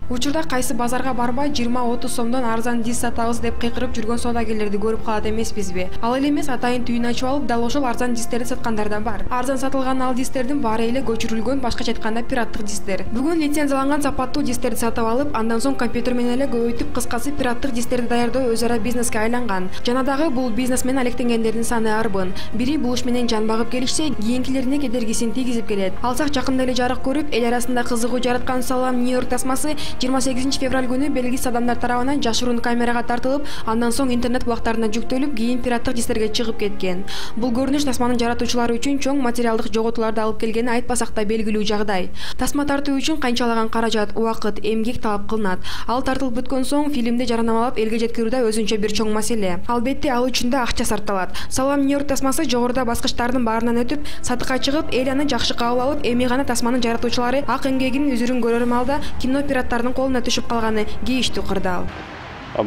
Учурда кайсы базарга барбай 20-30 сомдон арзан диск сатабыз деп кыйкырып жүргөн соодагерлерди көрүп калат эмеспизби? Ал эле эмес, атайын түйүн ачып алып, дал ошол арзан дисктерди саткандар да бар. Арзан сатылган ал дисктердин баары эле көчүрүлгөн, башкача айтканда пираттык дисктер. Бүгүн лицензияланган сапаттуу дисктерди сатып алып, андан соң компьютер менен эле көбөйтүп, кыскасы пираттык дисктерди даярдоо өз ара бизнеске айланган. Жана дагы бул бизнес менен алектенгендердин саны арбын. Бири бул иш менен жан багып келишсе, кийинкилерине кедергисин тийгизип келет. Алсак жакында эле жарык көрүп, эл арасында кызыгуу жараткан Салам Нью-Йорк тасмасы 28 февраль күнү белгисиз адамдар тарабынан жашыруун камерага тартылып, андан соң интернет булактарына жүктөлүп, кийин пираттык дисктерге чыгып кеткен. Бул көрүнүш тасманын жаратуучулары үчүн чоң материалдык жоготууларды алып келгени айтпасак да белгилүү жагдай. Тасма тартуу үчүн канчалаган каражат, убакыт, эмгек талап кылынат. Ал тартылып бүткөн соң фильмди жарнамалап элге жеткирүү да өзүнчө бир чоң маселе. Албетте, ал үчүн да акча сарпталат. Салам Нью-Йорк тасмасы жогоруда баскычтардын баарынан өтүп, сатыкка чыгып, эл аны жакшы кабыл алып, эми гана тасманын жаратуучулары ак эмгегинин үзүрүн көрөр маалда кино пираттардын колуна түшүп калганы кейиштүү кырдаал.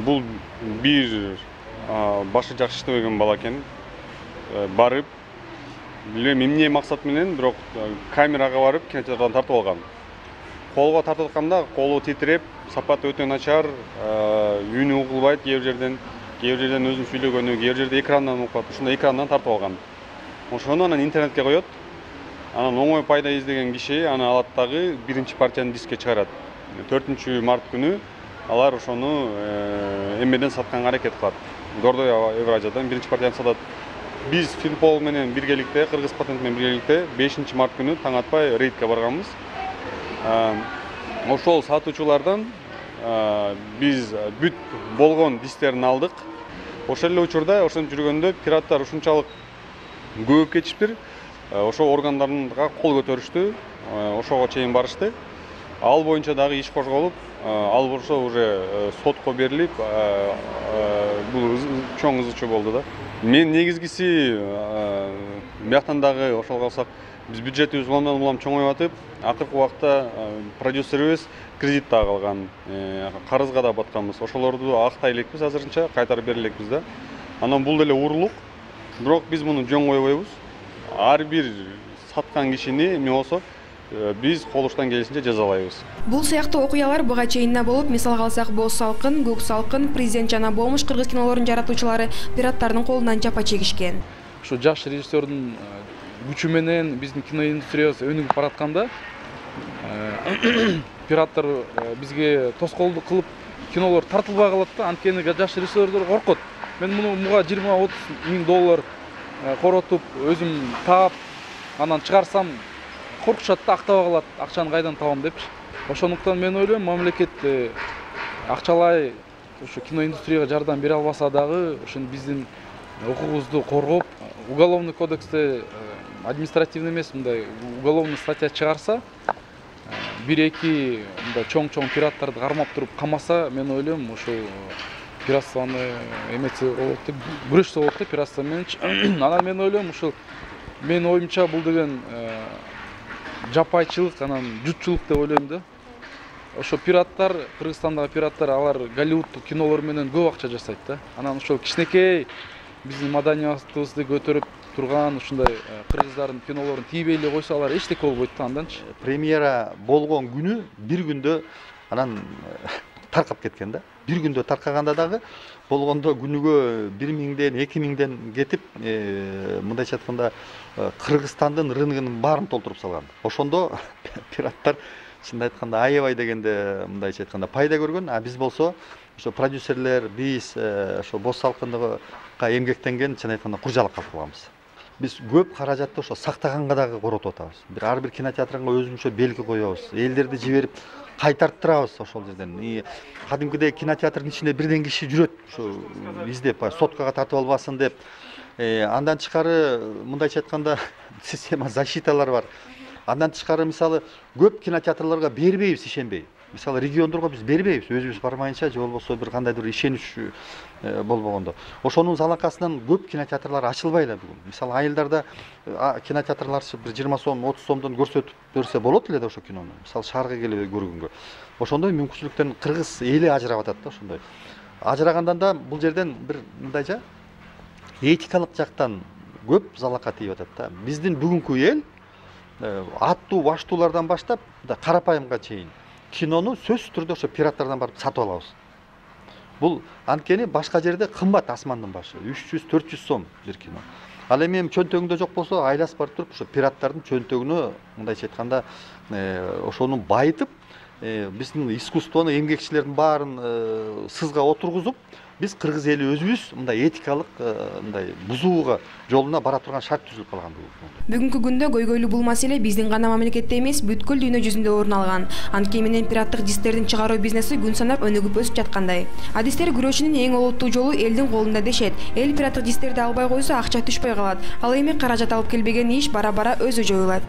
Бул бир башы жакшы иштебеген бала экен. Барып, билбейм эмне максат менен, бирок камерага барып кинотеатрдан тартып алган. Колго тартып атканда колу титиреп, сапаты өтө начар, үнү угулбайт кээ бир жерден өзүнүн сүйлөгөнү, кээ бир жерде экрандан угат, ушундай экрандан тартып алган. Ошону анан интернетке коет. Анан оңой пайда издеген киши аны алат дагы биринчи партияны дискке чыгарат. 4-март күнү алар ошону эмеден сатканга аракет кылат. Гордой Евразиядан биринчи партияны сатат. Биз Финпол менен биргеликте, Кыргыз патент менен биргеликте 5-март күнү таң атпай рейдке барганбыз. Ошол сатуучулардан биз бүт болгон дисктерин алдык. Ошол эле учурда, ошентип жүргөндө пираттар ушунчалык көбөйүп кетишиптир. Ошо органдарга кол көтөрүштү, ошого чейин барышты. Ал боюнча дагы иш козголуп, ал болсо уже сотко берилип, бул чоң ызы-чуу болду да. Мен негизгиси бияктан дагы ошол калсак, биз бюджетибиз улам чоңоюп атып, акыркы убакта продюсерибиз кредит дагы алган, карызга да батканбыз. Ошолорду актай элекпиз азырынча, кайтарып бере элекпиз да. Анан бул деле уурулук. Бирок биз муну жөн койбойбуз. Ар бир саткан кишини эмне болсо биз колуштан келишинче жазалайбыз. Бул сыяктуу окуялар буга чейин да болуп, мисалга алсак, Боз салкын, Көк салкын, Президент жана Болмуш кыргыз кинолорунун жаратуучулары пираттардын колунан жапа чегишкен. Ушу жаш режиссердун күчү менен биздин кино индустриясы өнүгүп баратканда, пираттар бизге тоскоолдук кылып кинолор тартылбай калат да, анткени жаш режиссерлер коркот. Мен муга 20-30 миң доллар коротуп, өзүм таап, анан чыгарсам коркушат да, актабай калат, акчаны кайдан табам депчи. Ошондуктан мен ойлойм, мамлекет акчалай ушу кино индустрияга жардам бере албаса дагы, ушун биздин укугубузду коргоп, уголовный кодексте административный эмес, мындай уголовный статья чыгарса, 1-2 мындай чоң пираттарды кармап туруп камаса, мен ойлойм, ушул пиратствону эмесе болот деп, күрөшсө болот да пиратство мененчи. Анан мен ойлойм, ушул менин оюмча бул деген жапайчылык, анан жутчулук деп ойлойм да. Ошо пираттар, Кыргызстандагы пираттар, алар Голливудтук кинолор менен көп акча жасайт да. Анан ошол кичинекей биздин маданиятыбызды көтөрүп турган ушундай кыргыздардын кинолорун тийбей эле койсо, алар эчтеке болбойт да анданчы. Премьера болгон күнү бир күндө анан таркап кеткен да. Бир күндө таркаганда дагы болгондо күнүгө 1000ден 2000ден кетип, мындайча айтканда Кыргызстандын рыногунун баарын толтуруп салган. Ошондо пираттар чынын айтканда аябай дегенде мындайча айтканда пайда көргөн. А биз болсо ошо продюсерлер, биз ошо Боз салкынга эмгектенген чынын айтканда куржалыкка алып калганбыз. Биз көп каражатты ошо сактаганга дагы коротуп атабыз. Ар бир кинотеатрга өзүнчө белги коебуз. Элдерди жиберип кайтарттырабыз ошол жерден. Кадимкидей кинотеатрдын ичинде бирден киши жүрөт, ушу издеп, соткага тартып албасын деп. Андан тышкары мындайча айтканда система защиталар бар. Андан тышкары мисалы көп кинотеатрларга бербейбиз, ишенбей. Мисалы региондорго биз бербейбиз, өзүбүз бармайынча, же болбосо бир кандайдыр ишенич болбогондо. Ошонун залакасынан көп кинотеатрлар ачылбай эле бүгүн. Мисалы айылдарда кинотеатрлар бир 20 сом, 30 сомдон көрсөтүп берсе болот эле да ошо кинону. Мисалы шаарга келип көргөнгө. Ошондой мүмкүнчүлүктөн кыргыз эли ажырап атат да ошондой. Ажырагандан да бул жерден бир мындайча этикалык жактан көп залака тийип атат да. Биздин бүгүнкү эл аттуу баштуулардан баштап карапайымга чейин кинону сөзсүз түрдө ошо пираттардан барып сатып алабыз. Бул анткени башка жерде кымбат асмандын башы 300-400 сом бир кино. Ал эми чөнтөгүңдө жок болсо айласып барып туруп ошо пираттардын чөнтөгүнө мындайча айтканда ошону байытып биздин искусствону эмгекчилердин баарын сызга отургузуп биз кыргыз эли өзүбүз мындай этикалык мындай бузууга жолуна бара турган шарт түзүлүп калган. Бүгүнкү күндө көйгөйлүү бул маселе биздин гана мамлекетте эмес, бүткүл дүйнө жүзүндө орун алган. Анткени менен пираттык дистердин чыгаруу бизнеси күн санап өнүгүп өсүп жаткандай. А дистер күрөшүнүн эң олуттуу жолу элдин колунда дешет. Эл пираттык дистерди албай койсо акча түшпөй калат. Ал эми каражат алып келбеген иш бара-бара өзү жоюлат.